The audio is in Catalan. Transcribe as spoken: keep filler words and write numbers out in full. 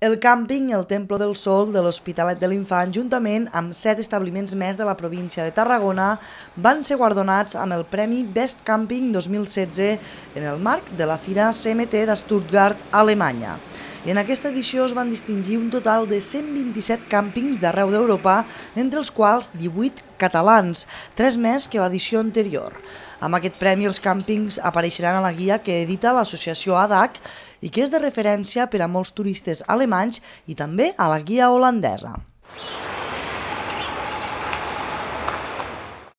El càmping El Templo del Sol de l'Hospitalet de l'Infant, juntament amb set establiments més de la província de Tarragona, van ser guardonats amb el Premi Best Camping dos mil setze en el marc de la Fira C M T de Stuttgart, Alemanya. En aquesta edició es van distingir un total de cent vint-i-set càmpings d'arreu d'Europa, entre els quals divuit catalans, tres més que l'edició anterior. Amb aquest premi els càmpings apareixeran a la guia que edita l'associació A D A C i que és de referència per a molts turistes alemanys i també a la guia holandesa.